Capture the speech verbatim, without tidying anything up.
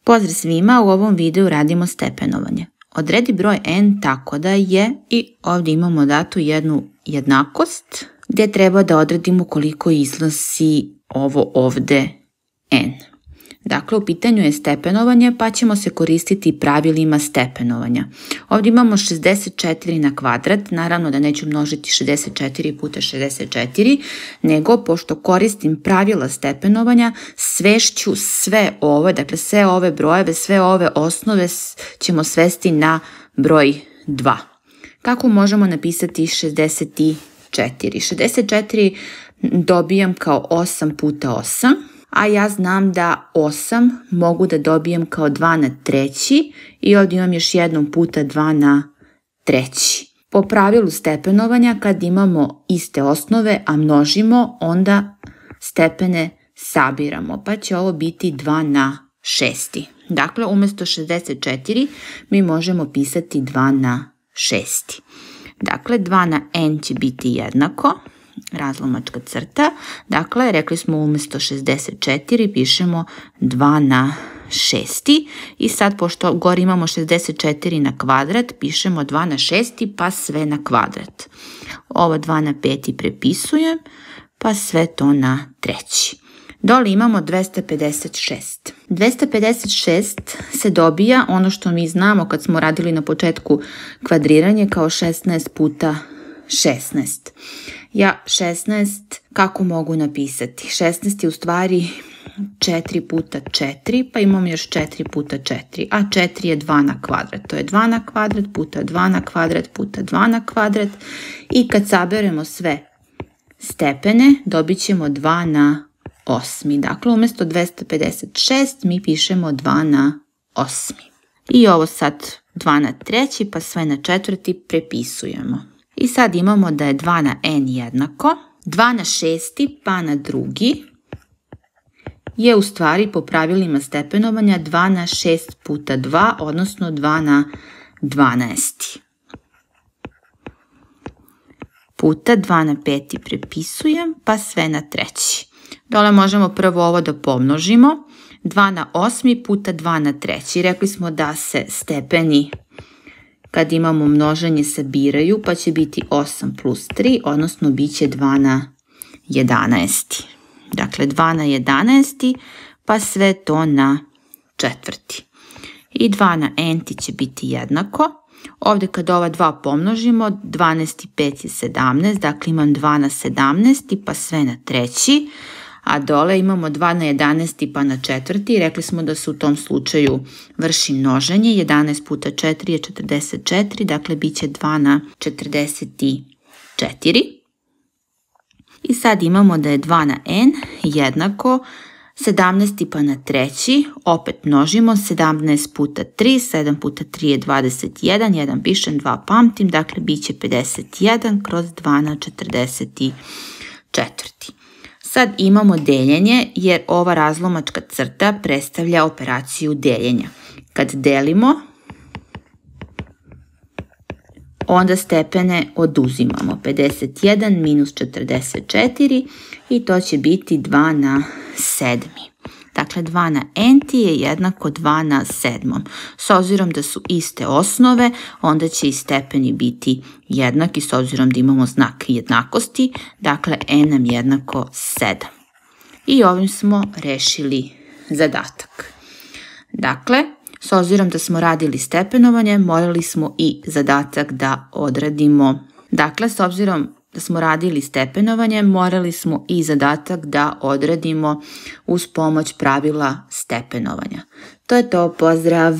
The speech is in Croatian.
Pozdrav svima, u ovom videu radimo stepenovanje. Odredi broj n tako da je, i ovdje imamo datu jednu jednakost gdje treba da odredimo koliko iznosi ovo ovdje n. Dakle, u pitanju je stepenovanje pa ćemo se koristiti pravilima stepenovanja. Ovdje imamo šezdeset četiri na kvadrat, naravno da neću množiti šezdeset četiri puta šezdeset četiri, nego pošto koristim pravila stepenovanja, svešću sve ove, dakle sve ove brojeve, sve ove osnove ćemo svesti na broj dva. Kako možemo napisati šezdeset četiri? šezdeset četiri dobijam kao osam puta osam. A ja znam da osam mogu da dobijem kao dva na treći i ovdje imam još jednom puta dva na treći. Po pravilu stepenovanja kad imamo iste osnove, a množimo, onda stepene sabiramo, pa će ovo biti dva na šesti. Dakle, umjesto šezdeset četiri mi možemo pisati dva na šesti. Dakle, dva na n će biti jednako razlomačka crta, dakle rekli smo umjesto šezdeset četiri pišemo dva na šesti i sad pošto gore imamo šezdeset četiri na kvadrat pišemo dva na šesti pa sve na kvadrat. Ovo dva na peti prepisujem pa sve to na treći. Dole imamo dvesta pedeset šest. dvesta pedeset šest se dobija ono što mi znamo kad smo radili na početku kvadriranje kao šesnaest puta šesnaest. Ja šesnaest kako mogu napisati? šesnaest je u stvari četiri puta četiri, pa imam još četiri puta četiri, a četiri je dva na kvadrat. To je dva na kvadrat puta dva na kvadrat puta dva na kvadrat i kad saberemo sve stepene dobit ćemo dva na osmi. Dakle, umjesto dvesta pedeset šest mi pišemo dva na osmi. I ovo sad dva na treći pa sve na četvrti prepisujemo. I sad imamo da je dva na n jednako, dva na šesti pa na drugi je u stvari po pravilima stepenovanja dva na šest puta dva, odnosno dva na dvanaest. Puta dva na peti prepisujem pa sve na treći. Dole možemo prvo ovo da pomnožimo. dva na osmi puta dva na treći. Rekli smo da se stepeni kad imamo množenje sabiraju pa će biti osam plus tri, odnosno bit će dva na jedanaest. Dakle, dva na jedanaest pa sve to na četvrti. I dva na n će biti jednako. Ovdje kad ova dva pomnožimo, dvanaest i pet je sedamnaest, dakle imam dva na sedamnaest pa sve na treći. A dole imamo dva na jedanaest pa na četvrti. Rekli smo da se u tom slučaju vrši množenje. jedanaest puta četiri je četrdeset četiri, dakle bit će dva na četrdeset četiri. I sad imamo da je dva na n jednako sedamnaest pa na treći. Opet množimo, sedamnaest puta tri, sedam puta tri je dvadeset jedan, jedan pišem, dva pamtim, dakle bit će pedeset jedan kroz dva na četrdeset četiri. Sad imamo deljenje jer ova razlomačka crta predstavlja operaciju deljenja. Kad delimo, onda stepene oduzimamo. pedeset jedan minus četrdeset četiri i to će biti dva na sedmi. Dakle, dva na n je jednako dva na sedmom. S obzirom da su iste osnove, onda će i stepeni biti jednaki s obzirom da imamo znak jednakosti. Dakle, n nam jednako sedam. I ovim smo rešili zadatak. Dakle, s obzirom da smo radili stepenovanje, morali smo i zadatak da odradimo. Dakle, s obzirom da smo radili stepenovanje, morali smo i zadatak da odradimo uz pomoć pravila stepenovanja. To je to, pozdrav!